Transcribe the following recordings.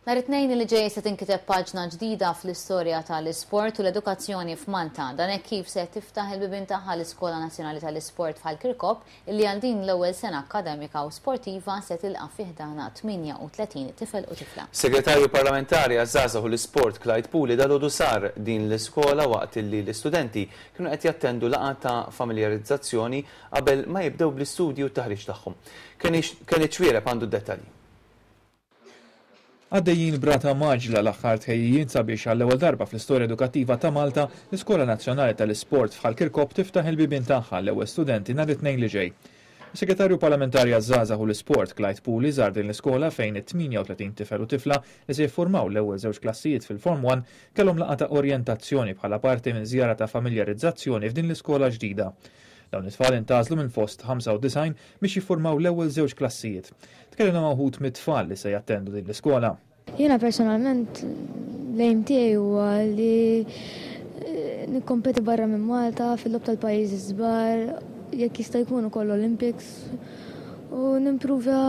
Nhar it-Tnejn li ġej se tinkiteb paġna ġdida fl-istorja tal-isport u l-edukazzjoni f'Malta. Dan hekk kif se tiftaħ il-bibien tagħha l-Iskola Nazzjonali tal-Isport f'Ħal Kirkop illi għal din l-ewwel sena akkademika u sportiva se tilqa' fi ħdanha 38 tifel u tifla. Segretarju Parlamentari għaż-Żgħażagħ u l-Isport Clyde Puli dalgħodu sar din l-iskola waqt illi l-istudenti kienu qed jattendu laqgħa ta' familjarizzazzjoni qabel ma jibdew bl-istudji u t-taħriġ tagħhom. Kenny Xuereb għandu d-dettalji. Għaddejjin b'rata mgħaġġla l-aħħar tħejjijiet sabiex għall-ewwel darba fl-istorja edukattiva ta' Malta, l-Iskola Nazzjonali tal-Isport f'Ħal Kirkop tiftaħ il-bibien tagħha għall-ewwel studenti nhar it-Tnejn li ġej. Is-Segretarju Parlamentari għaż-Żgħażagħ u l-Isport, Clyde Puli żar din l-iskola fejn it-38 tifel u tifla li se jiffurmaw l-ewwel żewġ klassijiet fil-Form One kellhom laqgħa ta' orjentazzjoni bħala parti minn żjara ta' familjarizzazzjoni f'din l-iskola ġdida. Dawn it-tfal intgħażlu minn fost 95 biex jiffurmaw l-ewwel żewġ klassijiet. Tkellimna ma' wħud mit-tfal li se jattendu din l-iskola. Jiena personalment l-aim tiegħi huwa li nikkompeti barra minn Malta fil-logħob tal-pajjiżi ż-żgħar, jekk jista' jkun ukoll Olympics u nimpruvja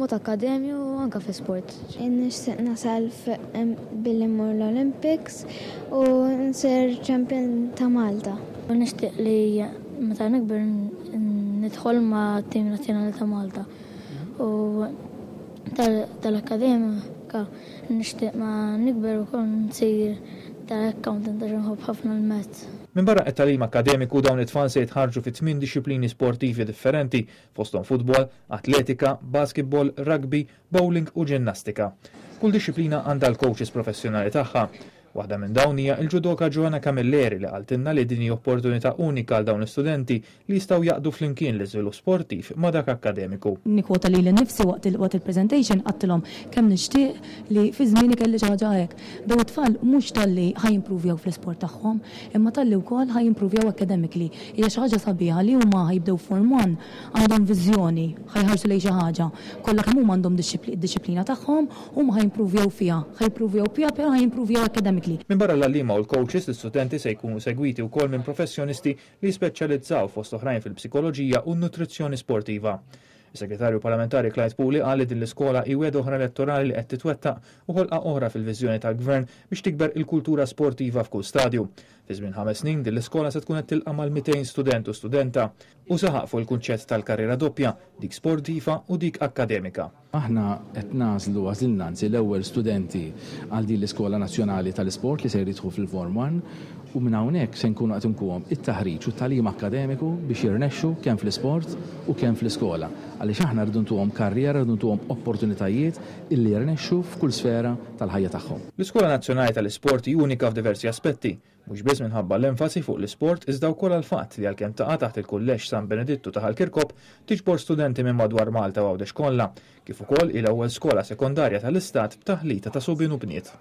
mod akkademju u anke fl-isport. Nixtieq nasal billi mmur l-Olympics u nsir champion ta' Malta. Nixtieq li meta nikber nidħol ma' tim nazzjonali ta' Malta u tal-akkademika nixtieq ma nikber ukoll nsir tal-accountant għax inħobb ħafna l-maths. Minbarra t-tagħlim akkademiku dawn it-tfal se jitħarrġu fi tmien dixxiplini sportivi differenti fosthom futbol, atletika, basketball, rugby, bowling u ġinnastika. Kull dixxiplina għandha l-coaches professjonali tagħha. Waħda minn dawn hija l-ġudoka Joanna Camilleri li qaltilna li din hi opportunità unika għal dawn l-istudenti li jistgħu jgħaqqdu flimkien l-iżvilupp sportiv ma' dak akkademiku. Nikkwota lili nnifsi waqt waqt il-presentation għadtilhom kemm nixtieq li fi żmieni kelli xi ħaġa hekk. Dawn it-tfal mhux talli ħa jimpruvjaw fl-isport tagħhom, imma talli wkoll ħa jimpruvjaw academically. Hija xi ħaġa sabiħa li huma ħa jibdew Form One għandhom viżjoni, ħa jħarsu lejn xi ħaġa. Kollha kemm huma għandhom id-dixxiplina tagħhom, huma ħa jimpruvjaw fiha, ħa jimpruvjaw fiha però ħa jimpruvjaw academically. Minbarra l-għalliema u l-coaches, l-istudenti se jkunu segwiti wkoll minn professjonisti li jispeċjalizzaw fost oħrajn fil-psikoloġija u n-nutrizzjoni sportiva. Is-Segretarju Parlamentari Clyde Puli qal li din l-iskola hi wegħda oħra elettorali li qed titwettaq u ħolqa oħra fil-viżjoni tal-Gvern biex tikber il-kultura sportiva f'kull stadju. Fi żmien ħames snin din l-iskola se tkun qed tilqa' mal-200 student u studenta. Hu saħaq fuq il-kunċett tal-karriera doppja, dik sportiva u dik akkademika. Aħna qed nagħżlu, għażilna anzi, l-ewwel studenti għal din l-Iskola Nazzjonali tal-Isport li ser jidħlu fil-Form One u minn hawnhekk se nkunu qed inkuhom it-taħriġ u t-tagħlim akkademiku biex jirnexxu kemm fl-isport u kemm fl-iskola. Għaliex aħna rridu ntuhom karriera, rridu ntuhom opportunitajiet illi jirnexxu f'kull sfera tal-ħajja tagħhom. L-Iskola Nazzjonali tal-Isport hi unika f'diversi aspetti, mhux biss minħabba l-enfasi fuq l-isport iżda wkoll għall-fatt li għalkemm taqa' taħt il-Kulleġġ San Benedittu ta' Ħal Kirkop, tiġbor studenti minn madwar Malta u Għawdex kollha, kif ukoll hi l-ewwel skola sekondarja tal-Istat b'taħlita ta' subien u bniet.